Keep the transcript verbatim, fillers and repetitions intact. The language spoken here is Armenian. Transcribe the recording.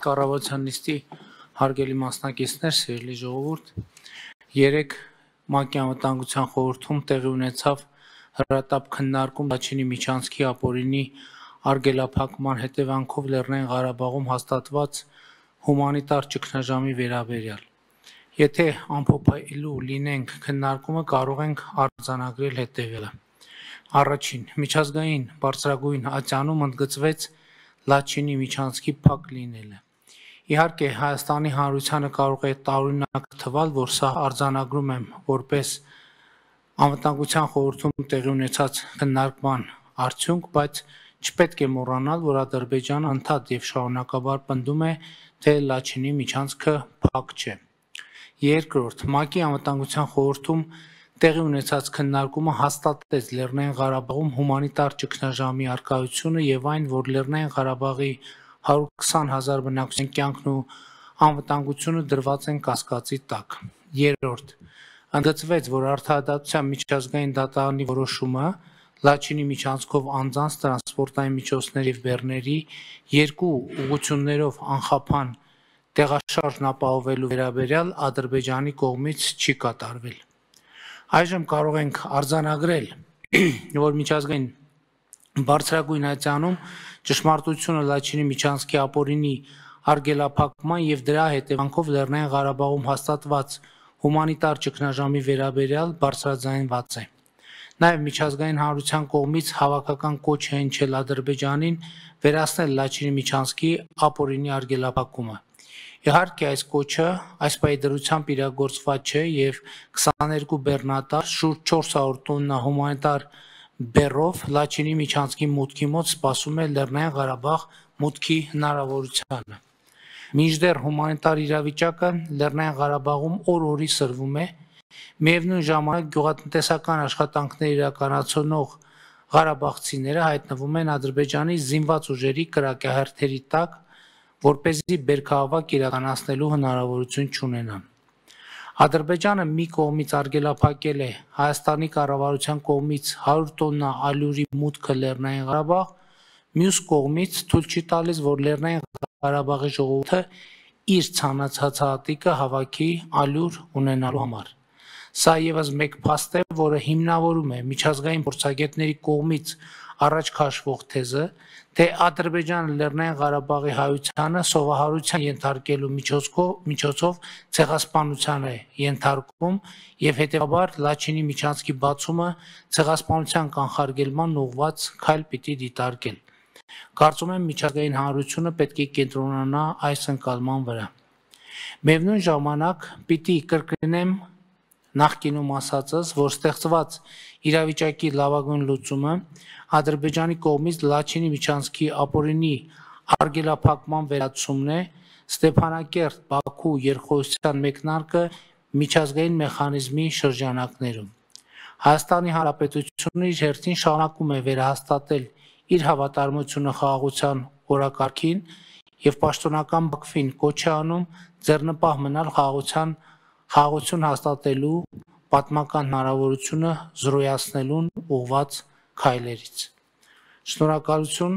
Կառավարության նիստի հարգելի մասնակիցներ, սիրելի ժողովուրդ, երեկ ՄԱԿ-ի անվտանգության խորհրդում տեղի ունեցավ հրատապ քննարկում Լաչինի միջանցքի ապօրինի արգելափակման հետևանքով Լեռնային Ղարաբաղում հաստատված հումանիտար ճգնաժամի վերաբերյալ։ Եթե ամփոփելու լինենք քննարկումը, կարող ենք արձանագրել հետևյալը. Առաջին, միջազգային բարձրագույն ատյանում ընդգծվեց Լաչինի միջանցքի փակ լինելը։ Իհարկե, Հայաստանի Հանրությանը կարող է տարօրինակ թվալ, որ սա արձանագրում եմ որպես անվտանգության խորհրդում տեղի ունեցած քննարկման արդյունք, բայց չպետք է մոռանալ, որ Ադրբեջանը ընդհանուր եւ շարունակաբար պնդում է, թե Լաչինի միջանցքը փակ չէ։ Երկրորդ, ՄԱԿ-ի անվտանգության խորհրդում տեղի ունեցած քննարկումը հաստատեց Լեռնային Ղարաբաղում հումանիտար ճգնաժամի առկայությունը եւ այն, որ Լեռնային Ղարաբաղի հարյուր քսան հազար բնակչության կյանքն ու անվտանգությունը դրված են կասկածի տակ։ Երրորդ, ընդգծվեց, որ Արդարադատության միջազգային դատարանի որոշումը Լաչինի միջանցքով անձանց տրանսպորտային միջոցների եւ բեռների երկու ուղղություններով անխափան տեղաշարժն ապահովելու վերաբերյալ Ադրբեջանի կողմից չի կատարվել։ Այժմ կարող ենք արձանագրել, որ միջազգային բարձրագույն ատյանում ճշմարտությունը Լաչինի միջանցքի ապօրինի արգելափակման եւ դրա հետևանքով Լեռնային Ղարաբաղում հաստատված հումանիտար ճգնաժամի վերաբերյալ բարձրաձայնված է։ Նաեւ միջազգային հանրության կողմից հավաքական կոչ է հնչել Ադրբեջանին վերացնել Լաչինի միջանցքի ապօրինի արգելափակումը։ Իհարկե, այս կոչը այս պայդրությամբ իրագործված չէ եւ քսաներկու բեռնատար շուրջ չորս հարյուր տոննա հումանիտար բեռով Լաչինի միջանցքի մուտքի մոտ սպասում է Լեռնային Ղարաբաղ մուտքի հնարավորությանը։ Մինչդեռ հումանիտար իրավիճակը Լեռնային Ղարաբաղում օր-օրի սրվում է, միևնույն ժամանակ գյուղատնտեսական աշխատանքներ իրականացնող ղարաբաղցիները հայտնվում են Ադրբեջանի զինված ուժերի կրակահերթերի տակ, որպեսզի բերքահավաք իրականացնելու հնարավորություն չունենան։ Ադրբեջանը մի կողմից արգելափակել է Հայաստանի կառավարության կողմից հարյուր տոննա ալյուրի մուտքը Լեռնային Ղարաբաղ, մյուս կողմից թույլ չի տալիս, որ Լեռնային Ղարաբաղի ժողովուրդը իր ցանցած հատիկը հավաքի ալյուր ունենալու համար։ Սա եւս մեկ փաստ է, որը հիմնավորում է միջազգային փորձագետների կողմից առաջ քաշվող թեզը, թե Ադրբեջանը Լեռնային Ղարաբաղի հայությանը սովահարության ենթարկելու միջոցով ցեղասպանության է ենթարկում եւ հետեւաբար Լաչինի միջանցքի բացումը ցեղասպանության կանխարգելման ուղղված քայլ պիտի դիտարկել։ Կարծում եմ միջազգային հանրությունը պետք է կենտրոնանա այս ընկալման վրա։ Միևնույն ժամանակ պիտի կրկնեմ նախկինում ասածս, որ ստեղծված իրավիճակի լավագույն լուծումը Ադրբեջանի կողմից Լաչինի միջանցքի ապօրինի արգելափակման վերացումն է, Ստեփանակերտ, Բաքու երկխոսության մեկնարկը միջազգային մեխանիզմի շրջանակներում։ Հայաստանի Հանրապետությունը իր հերթին շարունակում է վերահաստատել իր հավատարմությունը խաղաղության օրակարգին եւ պաշտոնական Բաքվին կոչ է անում ձեռնպահ մնալ խաղաղության խաղաղություն հաստատելու պատմական հնարավորությունը զրոյացնելուն ուղղված քայլերից։ Շնորհակալություն։